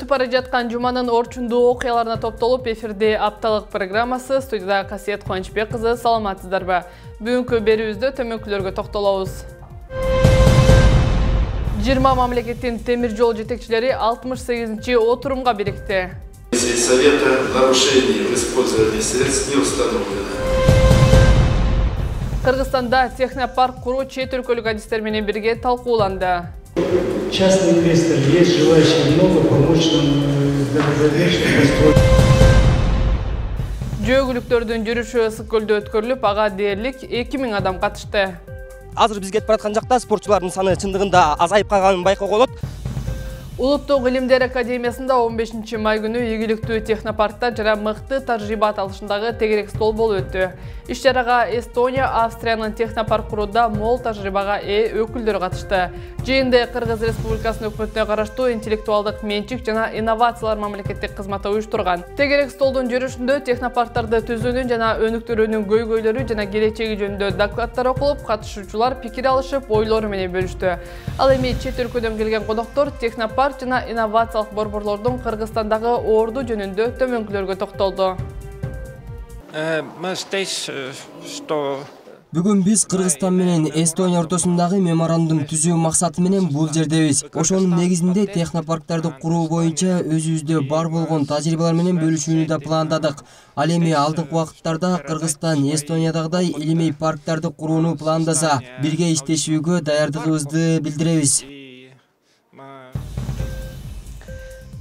Өтүп бара жаткан жуманын орчундуу окуяларына топтолуп эфирде апталык программасы. Студияда Касиет Кубанычбек кызы. Саламатсыздарбы? Бүгүнкү берүүбүздө төмөнкүлөргө токтолобуз. 20 мамлекеттин темир жол жетекчилери 68-чи отурумга бирикти. Совета нарушений в использовании средств не установлено. Кыргызстанда технопарк куруу чет өлкөлүк адистер менен бирге талкууланды. Частный инвестор, есть желающие много помочь нам построить. Жөөгүлүктөрдүн жүрүшү ысык көлдө өткөрүлүп, ага дээрлик 2000 адам катышты. Азыр биз кетип бараткан жакта спортчулардын саны чындыгында азайып калганын байкоого болот. Улуттук илимдер академиясында 15 май күнү ийгиликтүү технопаркта жана мыкты тажрыйба аталышындагы тегерек стол болуп өттү. Иш-чарага Эстония, Австриянын технопарк курууда мол тажрыйбага өкүлдөр катышты. Жыйында Кыргыз Республикасынын өкмөтүнө караштуу интеллектуалдык менчик жана инновациялар мамлекеттик кызматы уюштурган. Тегерек столдун жүрүшүндө технопарктарды түзүүнүн жана өнүктүрүүнүн көйгөйлөрү жана келечеги жөнүндө докладдар окулуп, катышуучулар пикир алышып, ойлору менен бөлүштү. Ал эми чет өлкөдөн келген коноктор технопарк жана инновациялык борборлордун Кыргызстандагы орду жөнүндө төмөнкүлөргө токтолду. Бүгүн биз Кыргызстан менен Эстония ортосундагы меморандум түзүү максаты менен бул жердебиз. Ошонун негизинде технопарктарды куруу боюнча өзүбүздө бар болгон тажрыйбалар менен бөлүшүүнү да пландадык. Ал эми алдыңкы убакыттарда Кыргызстан Эстониядагыдай илимий парктарды курууну пландаса, бирге иштешүүгө даярдыгыбызды билдиребиз.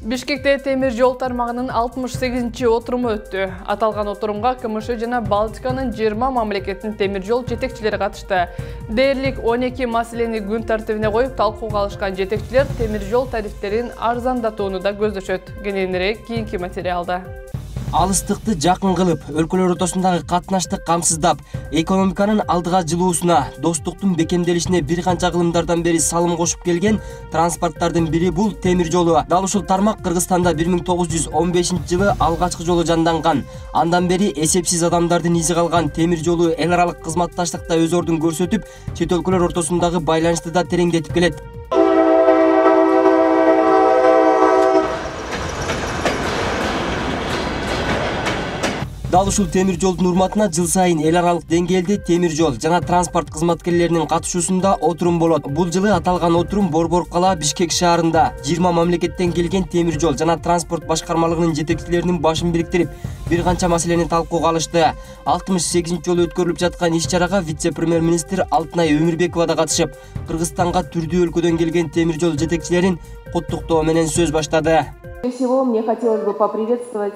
Бишкекте темир жол тармагынын 68-чи отуруму өттү. Аталган отурумга КМШ жана Балтиканын 20 мамлекеттин темир жол жетекчилери катышты. Дээрлик 12 маселени күн тартибине коюп талкууга алышкан жетекчилер темир жол тарифтерин арзандатууну да көздөшөт. Кененирээк кийинки материалда. Алыстыкты жакын кылып, өлкөлөр ортосундагы катнашты камсыздап, экономиканын алдыга жылуусуна, достуктун бекемделишине бир канча кылымдардан бери салым кошуп келген транспорттардын бири бул темир жолу. Дал ушул тармак Кыргызстанда 1915-жылы алгачкы жолу жанданган. Андан бери эсепсиз адамдардын изи калган темир жолу эл аралык кызматташтыкта өз ордун көрсөтүп, чет өлкөлөр ортосундагы байланышты да тереңдетип келет. Дал ушул темир жолдун урматына жыл сайын эл аралык деңгээлде темир жол жана транспорт кызматкерлеринин катышуусунда отурум болот. Бул жылы аталган отурум Борбор кала Бишкек шаарында 20 мамлекеттен келген темир жол жана транспорт башкармалыгынын жетекчилеринин башын бириктирип, бир канча маселени талкууга алышты. 68-чи жолу өткөрүлүп жаткан иш-чарага вице-премьер-министр Алтынай Өмүрбекова да катышып, Кыргызстанга түрдүү өлкөдөн келген темир жол жетекчилерин куттуктоо менен сөз баштады. Всего мне хотелось бы поприветствовать.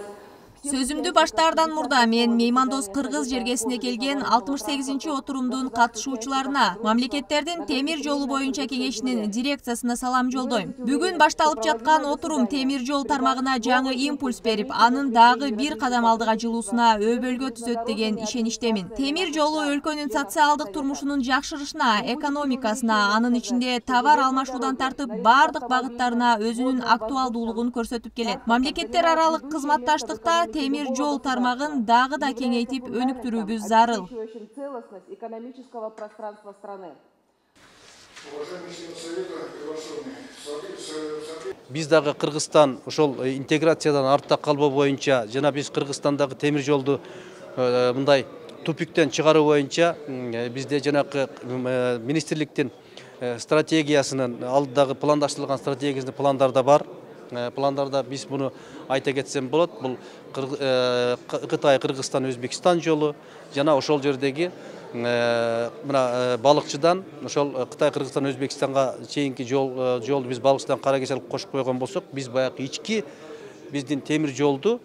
Сөзүмдү баштаардан мурда мен меймандос Кыргыз жергесине келген 68-чи отурумдун катышуучуларына, мамлекеттердин темир жолу боюнча кеңешинин дирекциясына салам жолдойм. Бүгүн башталып жаткан отурум темир жол тармагына жаңы импульс берип, анын дагы бир кадам алдыга жылуусуна өбөлгө түзөт деген ишеничтемин. Темир жолу өлкөнүн социалдык турмушунун жакшырышына, экономикасына, анын ичинде товар алмашуудан тартып бардык багыттарына өзүнүн актуалдуулугун көрсөтүп келет. Мамлекеттер аралык кызматташтыкта темир жол тармагын дагы да кеңейтип өнүктүрүүбүз зарыл. Биз дагы Кыргызстан ошол интеграциядан артта калбоо боюнча жана биз Кыргызстандагы темир жолду мындай тупиктен чыгаруу боюнча бизде жанакы министрликтин стратегиясынын алдыдагы пландаштырылган стратегиясынын пландарда бар. Пландарда биз буну айта кетсем болот. Бул Кытай, Кыргызстан, Өзбекстан жолу жана ошол жердеги мына балыкчыдан ошол Кытай, Кыргызстан, Өзбекстанга чейинки жолду биз балыкчыдан Кара Кеч алып кошуп койгон болсок, биз баягы ички биздин темир жолду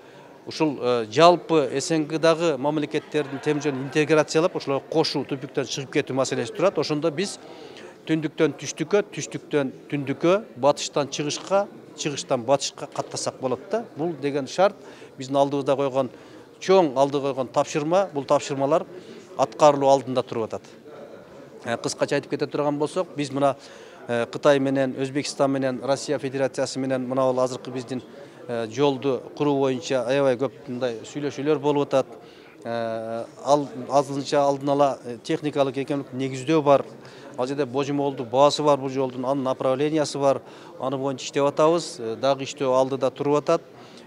ушул жалпы СНГдагы мамлекеттердин темир жолун интеграциялап, ошолорго кошуу, тупиктен чыгып кетүү маселеси турат. Ошондо биз түндүктөн түштүккө, түштүктөн түндүккө, батыштан чыгышка, чыгыштан батышка каттасак болот да. Бул деген шарт биздин алдыбызда койгон чоң алдыга койгон тапшырма. Бул тапшырмалар аткарылуу алдында туруп атат. Кыскача айтып кете турган болсок, биз мына Кытай менен, Өзбекстан менен, Россия Федерациясы менен мына бул азыркы биздин жолду куруу боюнча аябай көп мындай сүйлөшүүлөр болуп атат. Азырынча алдын ала техникалык экономикалык негиздөө бар. Ал жерде божомолду баасы бар бул жолдун, анын направлениясы бар. Аны боюнча иштеп атабыз. Дагы иштөө алдыда туруп атат.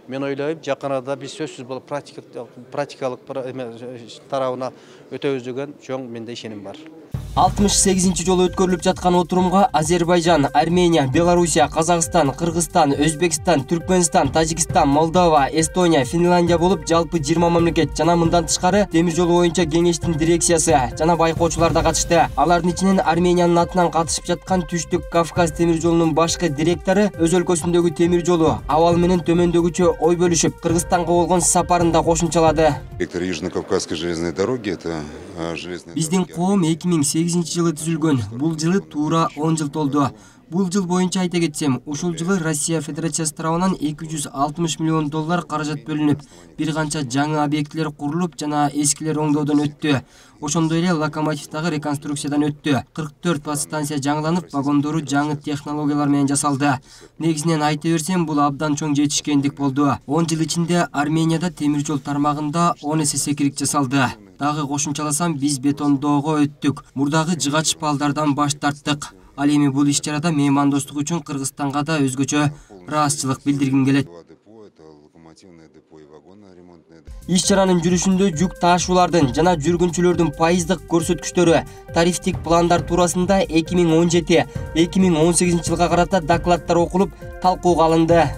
Мен ойлойм, жакын арада биз сөзсүз бул практикалык тарабына өтөбүз деген чоң менде ишеним бар. 68-ci жолу өткөрүлүп жаткан отурумга Азербайжан, Армения, Белоруссия, Казакстан, Кыргызстан, Өзбекстан, Түркмөнстан, Тажикстан, Молдова, Эстония, Финляндия болуп жалпы 20 мамлекет жана мындан тышкары темир жол боюнча кеңештин дирекциясы жана байкоочулар да катышты. Алардын ичинен Армениянын атынан катышып жаткан Түштүк Кавказ темир жолунун башкы директору өз өлкөсүндөгү темир жолу абал менен төмөндөгүчө ой бөлүшүп, Кыргызстанга болгон сапарында кошумчалады. Директор Южно-Кавказской железной дороги это железная. Биздин коом 2008-жылы түзүлгөн. Бул жылы туура 10 жыл толду. Бул жыл боюнча айта кетсем, ушул жылы Россия Федерациясы тарабынан $260 миллион каражат бөлүнүп, бир канча жаңы объектилер курулуп жана эскилер оңдоодон өттү. Ошондой эле локомотивдагы реконструкциядан өттү. 44 подстанция жаңыланып, вагондору жаңы технологиялар менен жасалды. Негизинен айта берсем, бул абдан чоң жетишкендик болду. 10 жыл ичинде Арменияда темир жол тармагында 10 эсе секирик жасалды. Дагы кошумчаласам, биз бетондоого өттүк. Мурдагы жыгач балдардан баш тарттык. Ал эми бул иш-чарада меймандостук үчүн Кыргызстанга да өзгөчө ыраазычылык билдиргим келет. Иш-чаранын жүрүшүндө жүк таашуулардын жана жүргүнчүлөрдүн пайыздык көрсөткүчтөрү, тарифтик пландар туурасында 2017-2018 жылга карата докладдар окулуп, талкууга алынды.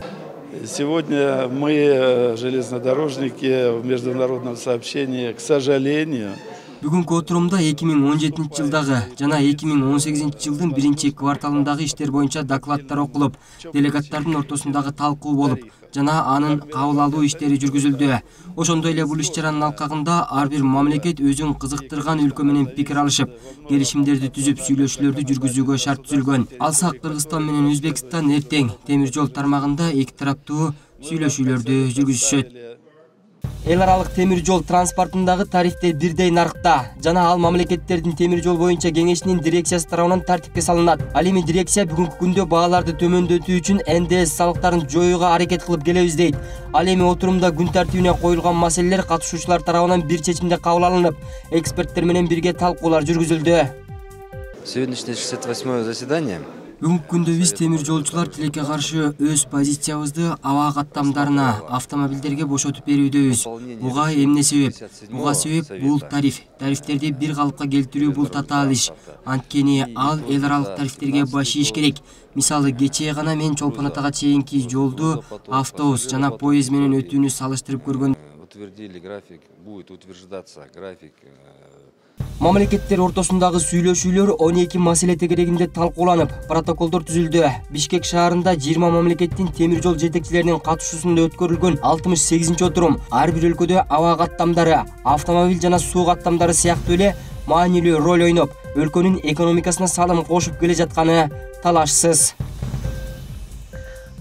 Сегодня мы, железнодорожники, в международном сообщении, к сожалению, Бүгүнкү отурумда 2017 жылдагы жана 2018 жылдын биринчи кварталындагы иштер боюнча докладдар окулуп, делегаттардын ортосундагы талкуу болуп, жана анын кабыл алуу иштери жүргүзүлдү. Ошондой эле бул иш-чаранын алкагында ар бир мамлекет өзүн кызыктырган өлкө менен пикир алышып, келишимдерди түзүп, сүйлөшүүлөрдү жүргүзүүгө шарт түзүлгөн. Алсак Кыргызстан менен Өзбекстан эртең темир жол тармагында эки тараптуу сүйлөшүүлөрдү жүргүзүшөт. Эл аралык темир жол транспортундагы тарифтер бирдей нарыкта жана ал мамлекеттердин темир жол боюнча кеңешинин дирекциясы тарабынан тартипке салынат. Ал эми дирекция бүгүнкү күндө бааларды төмөндөтүү үчүн НДС салыктарын жоюуга аракет кылып келебиз дейт. Ал эми отурумда күн тартибине коюлган маселелер катышуучулар тарабынан бир чечимде кабыл алынып, эксперттер менен бирге талкуулар жүргүзүлдү. Сегодняшнее 68-е заседание. Бүгүнкү күндө биз темир жолчулар тилекке каршы өз позициябызды аба каттамдарына, автомобилдерге бошотуп берүүдөбүз. Буга эмне себеп? Буга себеп бул тариф. Тарифтерди бир калыпка келтирүү бул татаал иш. Анткени ал эл аралык тарифтерге баш ийиш керек. Мисалы, кечээ гана мен Чолпон Атага чейинки жолду автобус жана поезд менен өтүүнү салыштырып көргөн. Утвердили график, будет утверждаться график. Мамлекеттер ортосундагы сүйлөшүүлөр 12 маселе тегерегинде талкууланып, протоколдор түзүлдү. Бишкек шаарында 20 мамлекеттин темир жол жетекчилеринин катышуусунда өткөрүлгөн 68-отурум ар бир өлкөдө аба каттамдары, автомобиль жана суу каттамдары сыяктуу эле маанилүү роль ойноп, өлкөнүн экономикасына салым кошуп келе жатканы талашсыз.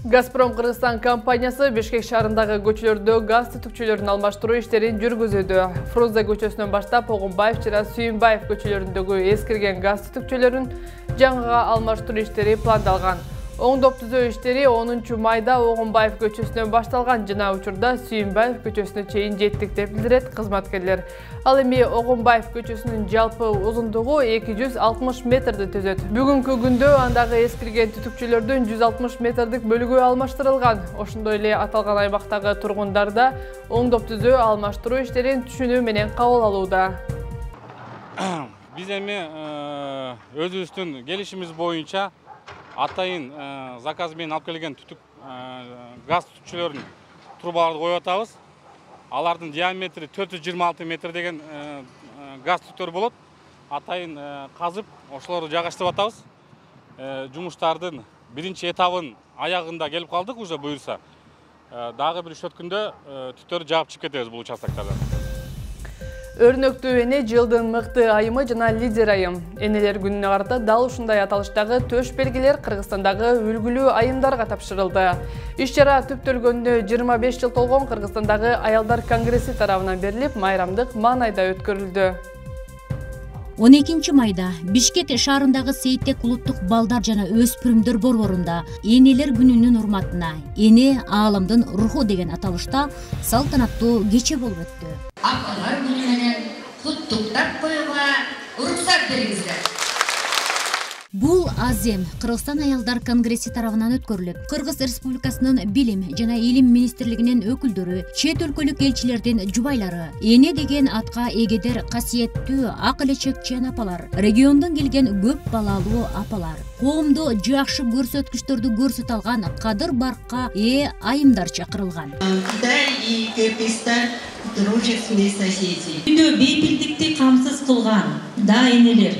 Газпром Кыргызстан компаниясы Бишкек шаарындагы көчөлөрдө газ түтүкчөлөрүн алмаштыруу иштерин жүргүзүүдө. Фруза көчөсүнөн баштап Огунбаев жана Сүйүнбаев көчөлөрүндөгү эскирген газ түтүкчөлөрүн жаңыга алмаштыруу иштери пландалган. Оңдоп түзөө иштери 10 майда Огунбаев көчөсүнөн башталган жана учурда Сүйүнбаев көчөсүнө чейин жеттик деп билдирет кызматкерлер. Ал эми Огунбаев көчөсүнүн жалпы узундугу 260 метрди түзөт. Бүгүнкү күндө андагы эскирген түтүкчөлөрдүн 160 метрдик бөлүгү алмаштырылган. Ошондой эле аталган аймактагы тургундар да оңдоп түзөө алмаштыруу иштерин түшүнүү менен кабыл алууда. Биз эми өзүбүздүн келишимиз боюнча атайын заказ менен алып келген газ түтүкчөлөрүн трубаларды коюп атабыз. Алардын диаметри 426 метр деген газ түтүктөр болот. Атайын казып, ошолорду жайгаштырып атабыз. Жумуштардын биринчи этабын аягында келип калдык, уже буюрса. Дагы бир 3 күндө түтүктөрдү жаап чыгып кетебиз бул участоктардан. Өрнөктүү эне жылдын мыкты айымы жана лидер айым. Энелер күнүнө карата дал ушундай аталыштагы төш белгилер Кыргызстандагы үлгүлүү айымдарга тапшырылды. Иш-чара түптөлгөнүнө 25 жыл толгон Кыргызстандагы аялдар конгресси тарабынан берилип, майрамдык маанайда өткөрүлдү. 12 майда Бишкек шаарындагы Сейтек улуттук балдар жана өспүрүмдөр борборунда энелер күнүнүн урматына эне аалымдын руху деген аталышта салтанаттуу кече болуп өттү. Апалар күнү менен куттуктап коюуга уруксат бериңиздер. Азем Кыргызстан аялдар конгресси тарабынан өткөрүлүп, Кыргыз Республикасынын билим жана илим министрлигинин өкүлдөрү, чет өлкөлүк элчилердин жубайлары, эне деген атка эгедер касиеттүү ак элечекчен апалар, региондон келген көп балалуу апалар, коомдо жакшы көрсөткүчтөрдү көрсөтө алган кадыр баркка айымдар чакырылган. Үйдө бейпилдикти камсыз кылган да энелер,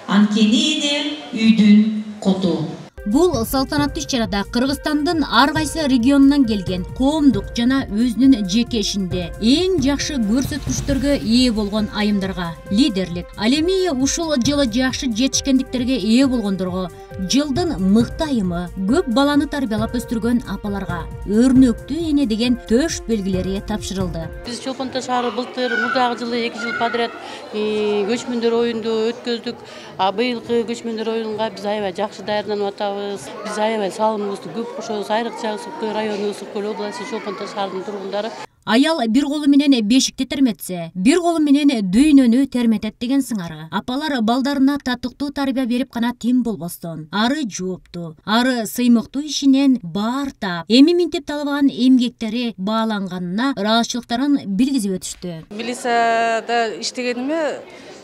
анткени эне үйдүн коту. Бул салтанаттуу иш-чарада Кыргызстандын ар кайсы регионунан келген коомдук жана өзүнүн жеке ишинде эң жакшы көрсөткүчтөргө ээ болгон айымдарга лидерлик, ал эми ушул жылы жакшы жетишкендиктерге ээ болгондорго жылдын мыкты айымы, көп баланы тарбиялап өстүргөн апаларга өрнөктүү эне деген төш белгилери тапшырылды. Биз Чолпон Ата шаары былтыр мурдагы жылы 2 жыл подряд көчмөндөр оюнду өткөздүк. Быйылкы көчмөндөр оюнга биз аябай жакшы даярданып атабыз. Биз аябай салымыбызды көп кошобуз. Айрыкча Ысык Көл району, Ысык Көл областы Чолпон Ата шаарынын тургундары. Аял бир колу менен бешикти терметсе, бир колу менен дүйнөнү терметет деген сыңары. Апалар балдарына татыктуу тарбия берип гана тим болбостон, ары жооптуу, ары сыймыктуу ишинен баар таап, эми минтип талабаган эмгектери бааланганына ыраазычылыктарын билгизип өтүштү. Милицияда иштегениме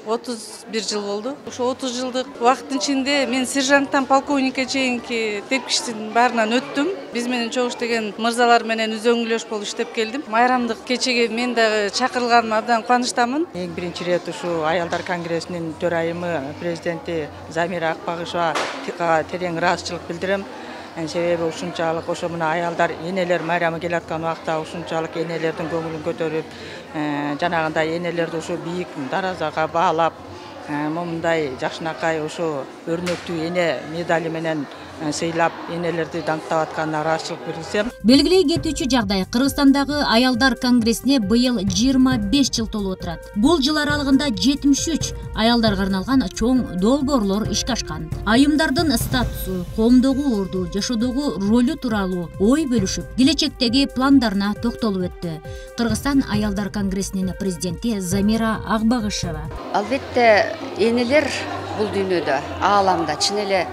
31 жыл болду. Ошо 30 жылдык убакыттын ичинде мен сержанттан полковникке чейинки тепкичтин баарынан өттүм. Биз менен чогуу иштеген мырзалар менен үзөңгүлөш болуп иштеп келдим. Майрамдык кечеге мен дагы чакырылганыма абдан кубанычтамын. Эң биринчи ирет ушу аялдар конгрессинин төрайымы президенти Замира Акбагышева терең ыраазычылык билдирем. Себеби ушунчалык ошо мына аялдар энелер майрамы келаткан убакта ушунчалык энелердин көңүлүн көтөрүп, жанагындай энелерди ушу бийик даражага баалап, момундай жакшынакай ушу өрнөктүү эне медали менен сыйлап энелерди даңктап атканына ыраазычылык билдирсем. Белгилей кетүүчү жагдай, Кыргызстандагы аялдар конгрессине быйыл 25 жыл толуп отурат. Бул жыл аралыгында 73 аялдарга арналган чоң долбоорлор ишке ашкан. Айымдардын статусу, коомдогу орду, жашоодогу ролу тууралуу ой бөлүшүп, келечектеги пландарына токтолуп өттү. Кыргызстан аялдар конгрессинин президенти Замира Акбагышева. Албетте, энелер бул дүйнөдө, ааламда чын эле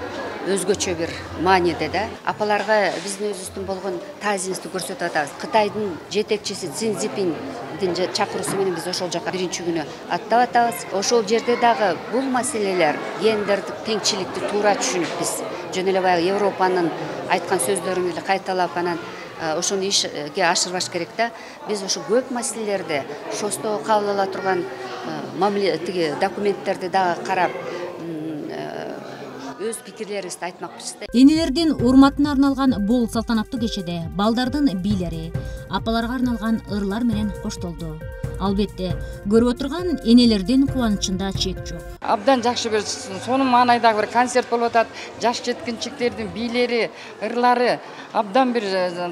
өзгөчө бир мааниде да. Апаларга биздин өзүбүздүн болгон таазимибизди көрсөтүп атабыз. Кытайдын жетекчиси Цзин Цзиньпиндин чакыруусу менен биз ошол жака биринчи күнү аттап атабыз. Ошол жерде дагы бул маселелер, гендердик теңчиликти туура түшүнүп биз жөн эле баягы Европанын айткан сөздөрүн эле кайталап анан ошону ишке ашырбаш керек да. Биз ошо көп маселелерди ШОСто кабыл ала турган тиги документтерди дагы карап өз пикирлерибизди айтмакчыбыз да. Энелердин урматына арналган бул салтанаттуу кечеде балдардын бийлери, апаларга арналган ырлар менен коштолду. Албетте, көрүп отурган энелердин кубанычында чек жок. Абдан жакшы бир сонун маанайдагы бир концерт болуп атат. Жаш жеткинчектердин бийлери, ырлары, абдан бир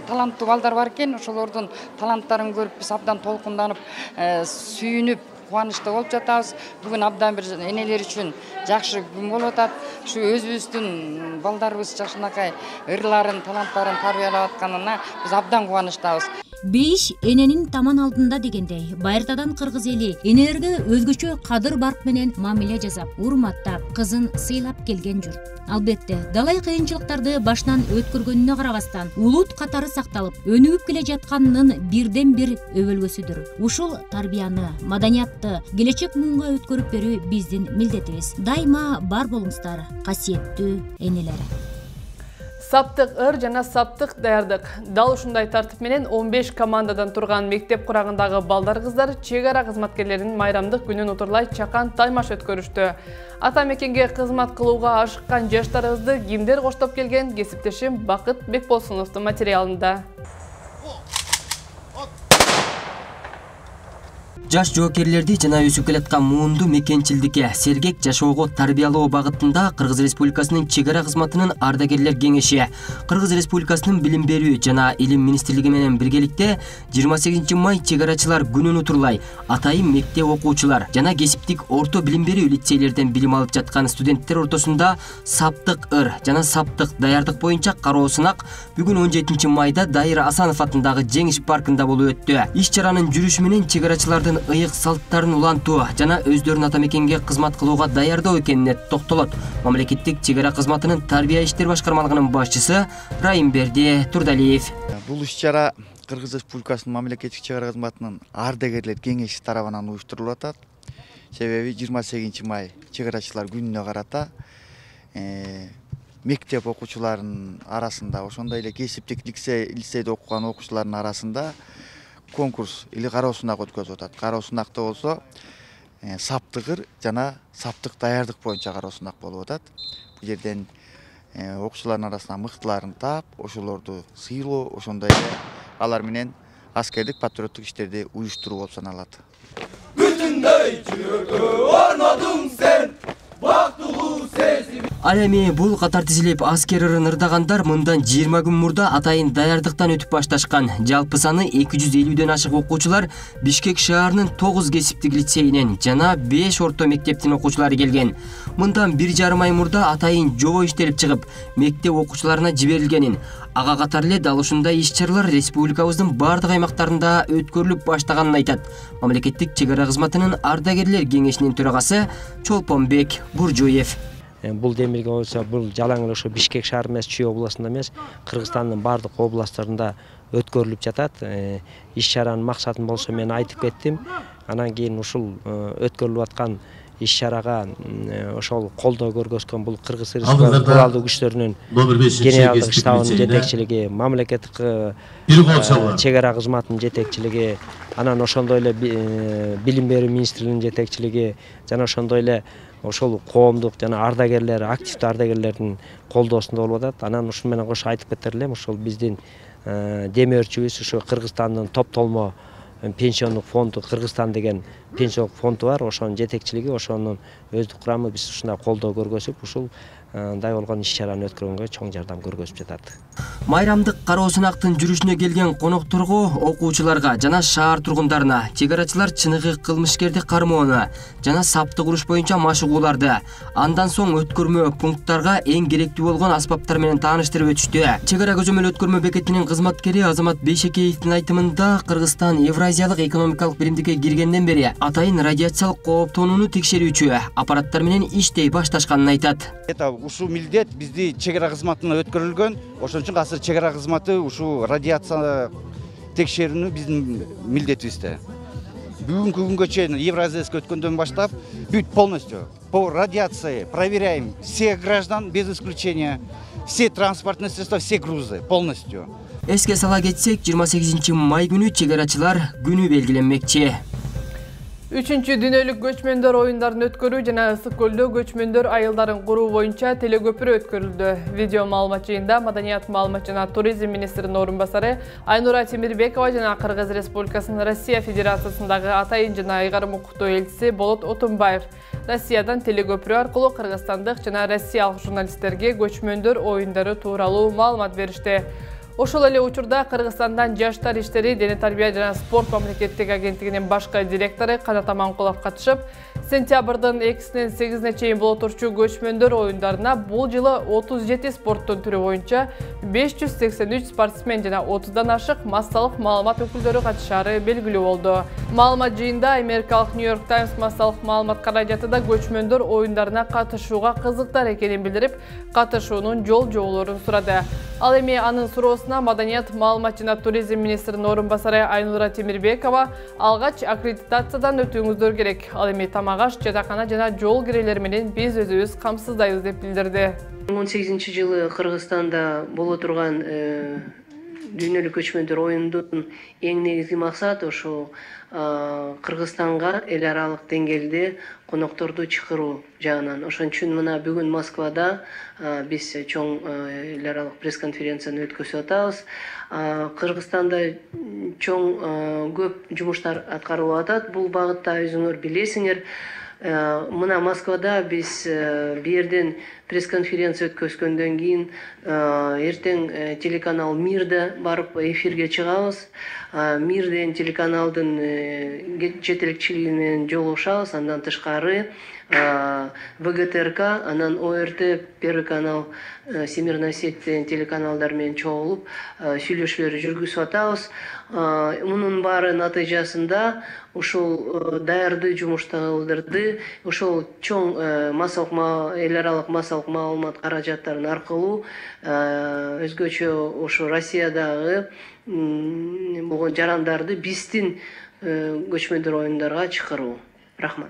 таланттуу балдар бар экен. Ошолордун таланттарын көрүп биз абдан толкунданып, сүйүнүп, кубанычта болуп жатабыз. Бүгүн абдан бир энелер үчүн жакшы күн болуп атат. Ушу өзүбүздүн балдарыбыз жакшынакай ырларын, таланттарын тарбиялап атканына биз абдан кубанычтабыз. Бейиш эненин таман алдында дегендей, байыртадан кыргыз эли энелерге өзгөчө кадыр барк менен мамиле жасап, урматтап, кызын сыйлап келген журт. Албетте, далай кыйынчылыктарды башынан өткөргөнүнө карабастан, улут катары сакталып, өнүгүп келе жатканынын бирден бир өбөлгөсүдүр. Ушул тарбияны, маданиятты келечек муунга өткөрүп берүү биздин милдетибиз. Дайыма бар болуңуздар, касиеттүү энелер. Саптык ыр жана саптык даярдык. Дал ушундай тартип менен 15 командадан турган мектеп курагындагы балдар кыздар чек ара кызматкерлеринин майрамдык күнүн утурлай чакан таймаш өткөрүштү. Ата мекенге кызмат кылууга ашыккан жаштарыбызды кимдер коштоп келген, кесиптешим Бакыт Бекболсуновдун материалында. Жаш жоокерлерди жана өсүп келаткан муунду мекенчилдикке сергек жашоого тарбиялоо багытында Кыргыз Республикасынын чек ара кызматынын ардагерлер кеңеши Кыргыз Республикасынын билим берүү жана илим министрлиги менен биргеликте 28 май чек арачылар күнүн утурлай атайын мектеп окуучулар жана кесиптик орто билим берүү лицейлерден билим алып жаткан студенттер ортосунда саптык ыр жана саптык даярдык боюнча кароо сынак бүгүн 17 майда Дайыр Асанов атындагы Жеңиш паркында болуп өттү. Иш чаранын жүрүшү менен чек арачылардын ыйык салттарын улантуу жана өздөрүн ата мекенге кызмат кылууга даярдоо экенине токтолот. Мамлекеттик чек ара кызматынын тарбия иштер башкармалыгынын башчысы Райымберди Турдалиев. Бул иш-чара Кыргыз Республикасынын мамлекеттик чек ара кызматынын ардагерлер кеңеши тарабынан уюштурулуп атат. Себеби 28 май чек арачылар күнүнө карата мектеп окуучуларынын арасында, ошондой эле кесиптик лицейде окуган окуучулардын арасында конкурс или кароо сынак өткөзүп атат. Кароо сынакта болсо саптыгыр жана саптык даярдык боюнча кароо сынак болуп атат. Бул жерден окуучулардын арасынан мыктыларын таап, ошолорду сыйлоо, ошондой эле алар менен аскердик патриоттук иштерди уюштуруу болуп саналат. Бүтүндөй жүрөгө орнодуң сен, бактылуу сезим. Ал эми бул катар тизилип аскер ырын ырдагандар мындан 20 күн мурда атайын даярдыктан өтүп башташкан. Жалпы саны 250ден ашык окуучулар Бишкек шаарынын 9 кесиптик лицейинен жана 5 орто мектептин окуучулары келген. Мындан 1,5 ай мурда атайын жобо иштелип чыгып, мектеп окуучуларына жиберилгенин, ага катар эле дал ушундай иш-чаралар республикабыздын бардык аймактарында өткөрүлүп баштаганын айтат мамлекеттик чек ара кызматынын ардагерлер кеңешинин төрагасы Чолпонбек Буржуев. Бул демилге болсо, бул жалаң эле ошо Бишкек шаар эмес, Чүй областында эмес, Кыргызстандын бардык областтарында өткөрүлүп жатат. Иш-чаранын максатын болсо мен айтып кеттим. Анан кийин ушул өткөрүлүп аткан иш-чарага ошол колдоо көргөзгөн бул Кыргыз Республикасы куралдуу күчтөрүнүн генералдык штабынын жетекчилиги, мамлекеттик чек ара кызматынын жетекчилиги, анан ошондой эле билим берүү министрлигинин жетекчилиги жана ошондой эле ошол коомдук жана ардагерлер, активдүү ардагерлердин колдоосунда болуп атат. Анан ушун менен кошо айтып кетер элем, ошол биздин демөөрчүбүз ушу Кыргызстандын топтолмо пенсиондук фонду, Кыргызстан деген пенсиондук фонду бар, ошонун жетекчилиги, ошонун өздүк курамы биз ушундай колдоо көргөзүп, ушул дай болгон иш-чараны өткөргөнгө чоң жардам көргөзүп жатат. Майрамдык кароо сынактын жүрүшүнө келген конокторго, окуучуларга жана шаар тургундарына чек арачылар чыныгы кылмышкерди кармоону жана саптык уруш боюнча машыгууларды, андан соң өткөрмө пункттарга эң керектүү болгон аспаптар менен тааныштырып өтүштү. Чек ара көзөмөл өткөрмө бекетинин кызматкери Азамат Бейшекеевдин айтымында, Кыргызстан Евразиялык экономикалык биримдикке киргенден бери атайын радиациялык кооптонууну текшерүүчү аппараттар менен иштей башташканын айтат. Ушул милдет бизди чек ара кызматына өткөрүлгөн. Ошон үчүн азыр чек ара кызматы ушул радиация текшерүүнү биздин милдетибизде. Бүгүнкү күнгө чейин Евразияска өткөндөн баштап бүт полностью по радиации проверяем всех граждан без исключения, все транспортные средства, все грузы полностью. Эске сала кетсек, 28 май күнү чек арачылар күнү белгиленмекчи. 3-чү дүйнөлүк көчмөндөр оюндарын өткөрүү жана Ысык көлдө көчмөндөр айылдарын куруу боюнча телекөпүрө өткөрүлдү. Видео маалымат жыйында Маданият, маалымат жана туризм министринин орун басары Айнура Темирбекова жана Кыргыз Республикасынын Россия Федерациясындагы атайын жана айгарым укуктуу элчиси Болот Отунбаев Россиядан телекөпүрө аркылуу кыргызстандык жана россиялык журналисттерге көчмөндөр оюндары тууралуу маалымат беришти. Ошол эле учурда Кыргызстандан жаштар иштери, дене тарбия жана спорт мамлекеттик агенттигинин башкы директору Канат Аманкулов катышып, сентябрдын 2-синен 8-ине чейин боло турчу көчмөндөр оюндарына бул жылы 37 спорттун түрү боюнча 583 спортсмен жана 30дан ашык массалык маалымат өкүлдөрү катышаары белгилүү болду. Маалымат жыйында америкалык New York Times массалык маалымат каражаты да көчмөндөр оюндарына катышууга кызыктар экенин билдирип, катышуунун жол-жоболорун сурады. Ал эми анын суроосуна Маданият, маалымат жана туризм министринин орун басары Айнура Темирбекова алгач аккредитациядан өтүүңүздөр керек. Ал эми тамак-аш, жатакана жана жол кирелери менен биз өзүбүз камсыздайбыз деп билдирди. 18-жылы Кыргызстанда боло турган дүйнөлүк көчмөндөр оюндун эң негизги максаты ошо Кыргызстанга эл аралык деңгээлде конокторду чакыруу жагынан. Ошон үчүн мына бүгүн Москвада биз чоң эл аралык пресс-конференцияны өткөзүп атабыз. Кыргызстанда чоң көп жумуштар аткарылып атат. Бул багытта өзүңөр билесиңер. Мына Москвада биз бу жерден пресс-конференция өткөзгөндөн кийин эртең телеканал Мирде барып эфирге чыгабыз. Мирден телеканалдын жетекчилиги менен жолугушабыз. Андан тышкары ВГТРК, анан ОРТ, Первый канал, Всемирная сеть телеканалдар менен чогулуп сүйлөшүүлөр жүргүзүп атабыз. Мунун баары натыйжасында ушул даярдуу жумуштарды ушул чоң эл аралык массалык маалымат каражаттарын аркылуу өзгөчө ушу Россиядагы болгон жарандарды биздин көчмөндөр оюндарга чакыруу. Рахмат.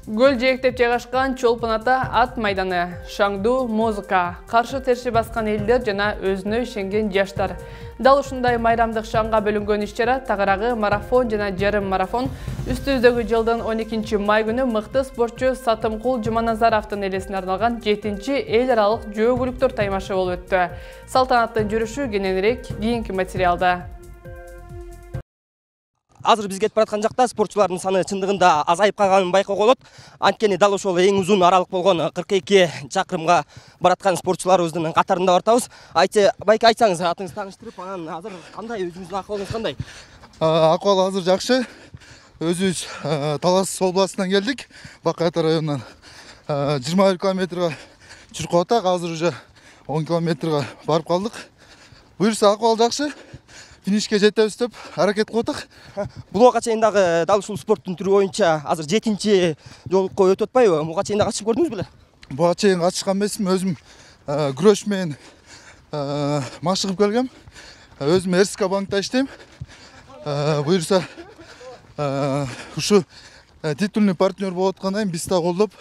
Гөл жээктеп жайгашкан Чолпон ата ат майданы, шаңдуу музыка, каршы терши баскан элдер жана өзүнө ишенген жаштар. Дал ушундай майрамдык шаңга бөлүнгөн иш-чара тагыраагы марафон жана жарым марафон үстүбүздөгү жылдын 12 май күнү мыкты спортчу Сатымкул Жуманазаровдун элесине арналган 7-чи эл аралык жөө-көлүктөр таймашы болуп өттү. Салтанаттын жүрүшү кененирээк кийинки материалда. Азыр биз кетип бараткан жакта спортчулардын саны чындыгында азайып калганын байкоого болот. Анткени дал ошол эң узун аралык болгон 42 чакырымга бараткан спортчуларыбыздын катарында бартабыз. Байке айтсаңыз, атыңызды тааныштырып, анан азыр кандай, өзүңүздүн акыбалыңыз кандай? Акыбал азыр жакшы. Өзүбүз Талас областынан келдик. Бакайта районунан 21 километрге чуркап атак. Азыр уже 10 километрге барып калдык. Буюрса акыбал жакшы. Финишке жетебиз деп аракет кылып атак. Бул убакка чейин дагы дал ушул спорттун түрү боюнча азыр 7-чи жолукко өтүп атпайбы? Буга чейин катышып көрдүңүз беле? Буга чейин катышкан эмесмин. Өзүм күрөш менен машыгып келгем. Өзүм РСК банкта иштейм. Буюрса ушу титульный партнер болуп аткандан кийин биз да колдоп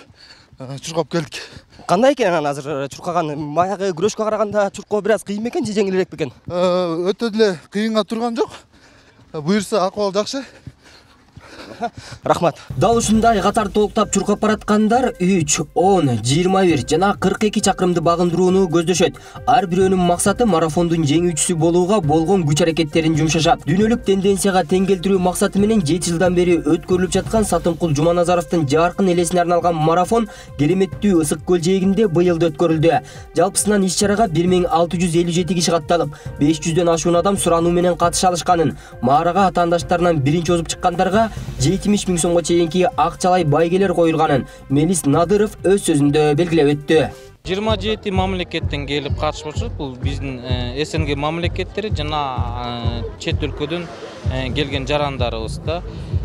чуркап келдик. Кандай экен анан азыр чуркаган? Баягы күрөшкө караганда чуркоо бир аз кыйын бекен же жеңилирээк бекен? Өтө деле кыйынга турган жок. Буюрса акыбал жакшы. Рахмат. Дал ушундай катар толуктап чуркап бараткандар 3, 10, 21 жана 42 чакырымды багындырууну көздөшөт. Ар бирөөнүн максаты марафондун жеңүүчүсү болууга болгон күч аракеттерин жумшашат. Дүйнөлүк тенденцияга тең келтирүү максаты менен 7 жылдан бери өткөрүлүп жаткан Сатымкул Жуманазаровдун жаркын элесине арналган марафон кереметтүү Ысык көл жээгинде быйыл да өткөрүлдү. Жалпысынан иш-чарага 1657 киши катталып, 500дөн ашуун адам сурануу менен катыша алышканын, маарага атаандаштарынан биринчи озуп чыккандарга 70 000 сомго чейинки акчалай байгелер коюлганын Мелис Надыров өз сөзүндө белгилеп өттү. 27 мамлекеттен келип катышуучу, бул биздин СНГ мамлекеттери жана чет өлкөдөн келген жарандарыбыз да.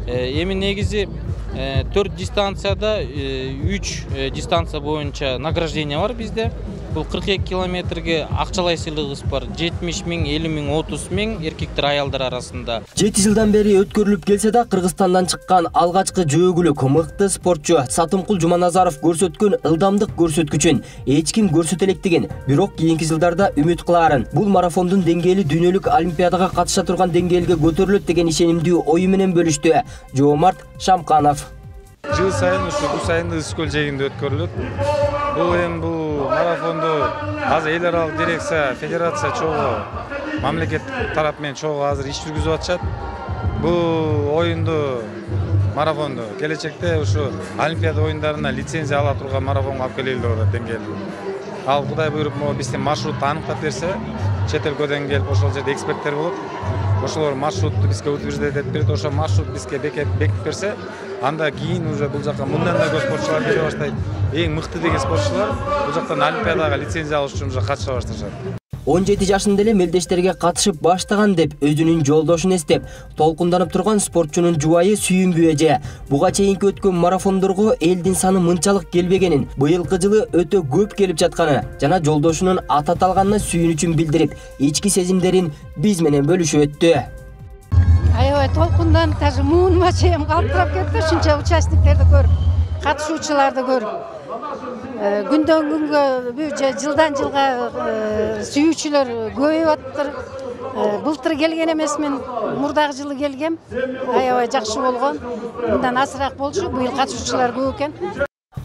Эми негизи 4 дистанцияда 3 дистанция боюнча награждение бар бизде. Бул 42 километрге акчалай сыйлыгыбыз бар. 70 000, 50 000, 30 000 эркектер аялдар арасында. 7 жылдан бери өткөрүлүп келсе да, Кыргызстандан чыккан алгачкы жөөкүлүк мыкты спортчу Сатымкул Жуманазаров көрсөткөн ылдамдык көрсөткүчүн эч ким көрсөтө электигин, бирок кийинки жылдарда үмүт кылаарын, бул марафондун деңгээли дүйнөлүк олимпиадага катыша турган деңгээлге көтөрүлөт деген ишенимдүү ою менен бөлүштү Жоомарт Шамканов. Жыл сайын бул сайын Ысык көл жээгинде өткөрүлөт. Бул эми бул марафонду азыр эл аралык дирекция, федерация чогуу, мамлекет тарап менен чогуу азыр иш жүргүзүп атышат. Бул оюнду, марафонду келечекте ушу олимпиада оюндарына лицензия ала турган марафонго алып келели деп атат деңгээлде. Ал Кудай буйруп, биздин маршрутты аныктап берсе, чет өлкөдөн келип ошол жерде эксперттер болот. Ошолор маршрутту бизге утверждать этип берет, ошол маршрут бизге бекитип берсе, анда кийин уже бул жака мындан да көп спортчулар келе баштайт. Эң мыкты деген спортчулар бул жактан олимпиадага лицензия алыш үчүн уже катыша башташат. 17 жашында эле мелдештерге катышып баштаган деп өзүнүн жолдошун эстеп, толкунданып турган спортчунун жубайы Сүйүмбү эже буга чейинки өткөн марафондорго элдин саны мынчалык келбегенин, быйылкы жылы өтө көп келип жатканы жана жолдошунун ат аталганына сүйүнүчүн билдирип, ички сезимдерин биз менен бөлүшүп өттү. Аябай толкунданып, даже муунума чейин калтырап кетти, ушунча участниктерди көрүп, катышуучуларды көрүп. Күндөн күнгө, жылдан жылга сүйүүчүлөр көбөйүп атыптыр. Былтыр келген эмесмин, мурдагы жылы келгем. Аябай жакшы болгон. Мындан азыраак болчу, быйыл катышуучулар көп экен.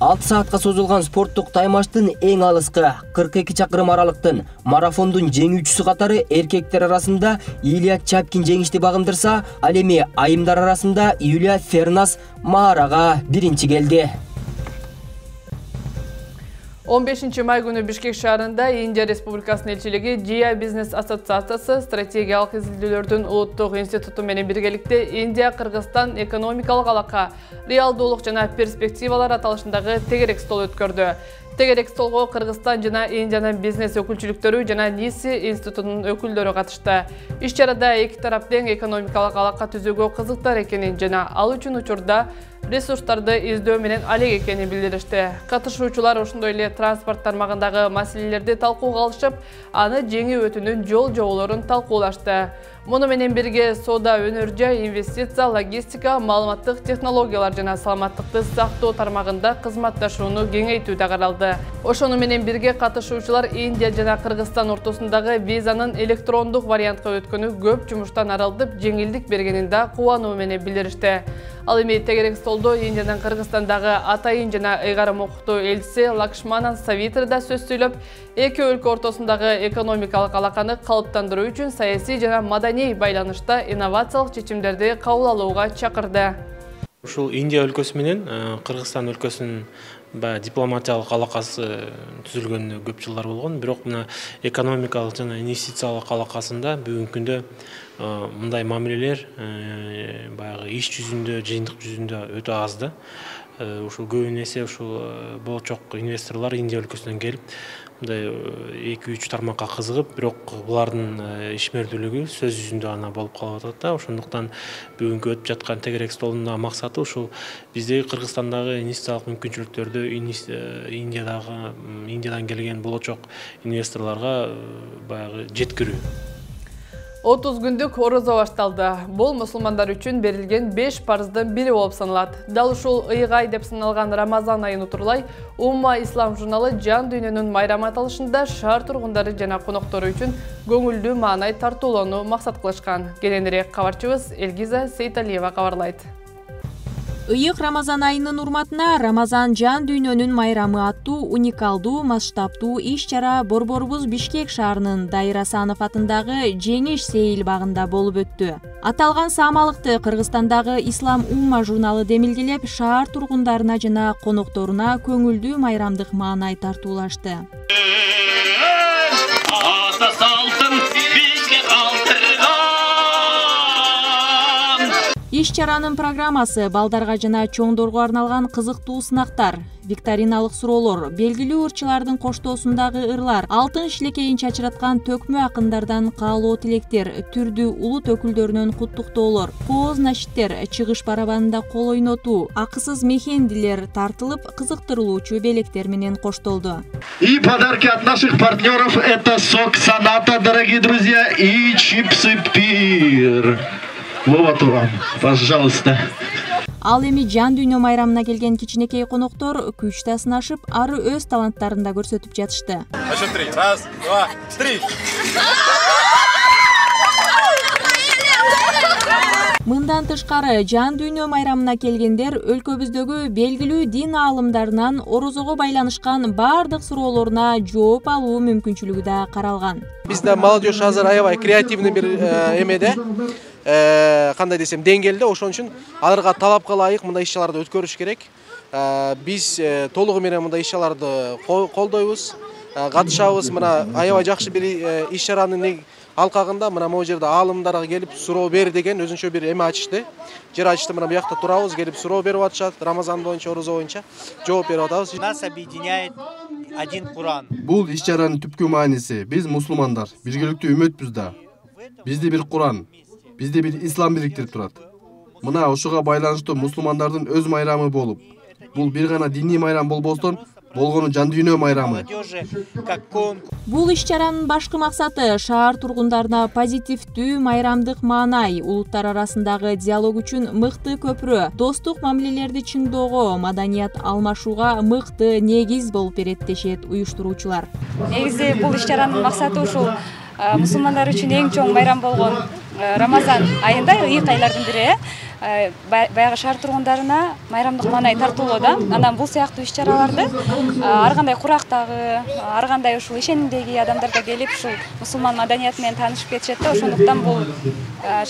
6 саатка созулган спорттук таймаштын эң алыскы 42 чакырым аралыктын марафондун жеңүүчүсү катары эркектер арасында Илья Чапкин жеңишти багындырса, ал эми айымдар арасында Юлия Фернас маарага биринчи келди. 15 май күнү Бишкек шаарында Индия Республикасынын элчилиги Jia Бизнес ассоциациясы стратегиялык изилдөөлөрдүн улуттук институту менен биргеликте Индия Кыргызстан экономикалык алака, реалдуулук жана перспективалар аталышындагы тегерек стол өткөрдү. Тегерек столго Кыргызстан жана Индиянын бизнес өкүлчүлүктөрү жана НИСИ институтунун өкүлдөрү катышты. Иш-чарада эки тарап тең экономикалык алака түзүүгө кызыктар экенин жана ал үчүн учурда ресурстарды издөө менен алек экенин билдиришти. Катышуучулар ошондой эле транспорт тармагындагы маселелерди талкууга алышып, аны жеңүү өтүүнүн жол жоболорун талкуулашты. Муну менен бирге соода, өнөр жай, инвестиция, логистика, маалыматтык технологиялар жана саламаттыкты сактоо тармагында кызматташууну кеңейтүү да каралды. Ошону менен бирге катышуучулар Индия жана Кыргызстан ортосундагы визанын электрондук вариантка өткөнү көп жумуштан арылтып, жеңилдик бергенин да кубануу менен билдиришти. Ал эми тегерек столдо Индиянын Кыргызстандагы атайын жана ыйгарым укуктуу элчиси Лакшманан Савитр да сөз сүйлөп, эки өлкө ортосундагы экономикалык алаканы калыптандыруу үчүн саясий жана маданий байланышта инновациялык чечимдерди кабыл алууга чакырды. Ушул Индия өлкөсү менен Кыргызстан өлкөсүнүн дипломатиялык алакасы түзүлгөнүнө көп жылдар болгон, бирок мына экономикалык жана инвестициялык алакасында бүгүнкү күндө мындай мамилелер баягы иш жүзүндө, жыйынтык жүзүндө өтө аз да. Ушул көбүн эсе ушул болчок инвесторлор Индия өлкөсүнөн келип, мындай 2-3 тармакка кызыгып, бирок булардын ишмердүүлүгү сөз жүзүндө гана болуп калып атат да. Ошондуктан бүгүнкү өтүп жаткан тегерек столдун максаты ушул биздеги Кыргызстандагы инвестициялык мүмкүнчүлүктөрдү Индиядан келген болочок инвесторлорго баягы жеткирүү. 30 күндүк орозо башталды. Бул мусулмандар үчүн берилген 5 парыздын бири болуп саналат. Дал ушул ыйгай деп саналган Рамазан айын утурлай, Умма Ислам журналы жан дүйнөнүн майрамы аталышында шаар тургундары жана коноктору үчүн көңүлдүү маанай тартуулоону максат кылышкан. Кененирээк кабарчыбыз Элгиза Сейталиева кабарлайт. Ыйык Рамазан айынын урматына Рамазан жан дүйнөнүн майрамы аттуу уникалдуу масштабтуу иш-чара Борборубуз Бишкек шаарынын Дайыр Асанов атындагы Жеңиш сейил багында болуп өттү. Аталган саамалыкты Кыргызстандагы Ислам Умма журналы демилгелеп, шаар тургундарына жана конокторуна көңүлдүү майрамдык маанай тартуулашты. Иш-чаранын программасы балдарга жана чоңдорго арналган кызыктуу сынактар, викториналык суроолор, белгилүү ырчылардын коштоосундагы ырлар, алтын шилекейин чачыраткан төкмө акындардан каалоо тилектер, түрдүү улут өкүлдөрүнөн куттуктоолор, кооз нашиттер, чыгыш барабанында кол ойнотуу, акысыз мехендилер тартылып, кызыктырылуучу белектер менен коштолду. И подарки от наших партнеров — это сок Саната, дорогие друзья, и чипсы Пир. Вот вам, пожалуйста. Ал эми жан дүйнө майрамына келген кичинекей коноктор күчтө сынашып, ары өз таланттарын да көрсөтүп жатышты. Еще 3. 1, 2, 3. Мындан тышкары жан дүйнө майрамына келгендер өлкөбүздөгү белгилүү дин аалымдарынан орозого байланышкан бардык суроолоруна жооп алуу мүмкүнчүлүгү да каралган. Бизде молодежь азыр аябай креативный бир эмеде, кандай десем, деңгээлде, ошон үчүн аларга талапка ылайык мындай иш-чараларды өткөрүш керек. Биз толугу менен мындай иш-чараларды колдойбуз, катышабыз. Мына аябай жакшы бир иш-чаранын алкагында мына могу жерде аалымдарга келип суроо бер деген өзүнчө бир эме ачышты. Жер ачышты, мына буякта турабыз, келип суроо берип атышат, Рамазан боюнча, орозо боюнча жооп берип атабыз. Нас объединяет один Куран. Бул иш-чаранын түпкү мааниси биз мусулмандар биргеликтүү үмөтпүз да. Бизде бир Куран, бизде бир ислам бириктирип турат. Мына ошого байланыштуу мусулмандардын өз майрамы болуп, бул бир гана диний майрам болбостон, болгону жан дүйнө майрамы. Бул иш-чаранын башкы максаты шаар тургундарына позитивдүү майрамдык маанай, улуттар арасындагы диалог үчүн мыкты көпүрө, достук мамилелерди чыңдоого, маданият алмашууга мыкты негиз болуп берет дешет уюштуруучулар. Негизи бул иш-чаранын максаты ушул мусулмандар үчүн эң чоң майрам болгон Рамазан айында, ыйык айлардын бири, баягы шаар тургундарына майрамдык маанай тартуулоодо. Анан бул сыяктуу иш-чараларды ар кандай курактагы, ар кандай ушул ишенимдеги адамдар да келип ушул мусулман маданияты менен таанышып кетишет да. Ошондуктан бул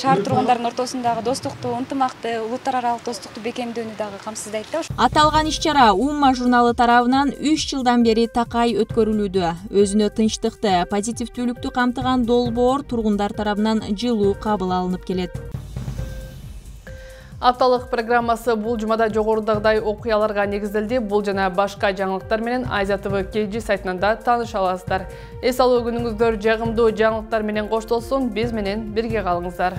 шаар тургундарынын ортосундагы достукту, ынтымакты, улуттар аралык достукту бекемдөөнү дагы камсыздайт да. Аталган иш-чара Умма журналы тарабынан 3 жылдан бери такай өткөрүлүүдө. Өзүнө тынчтыкты, позитивдүүлүктү камтыган долбоор тургундар тарабынан жылуу кабыл алынып келет. Апталык программасы бул жумада жогорудагыдай окуяларга негизделди. Бул жана башка жаңылыктар менен Айза ТВ KG сайтынан да тааныша аласыздар. Эс алуу күнүңүздөр жагымдуу жаңылыктар менен коштолсун. Биз менен бирге калыңыздар.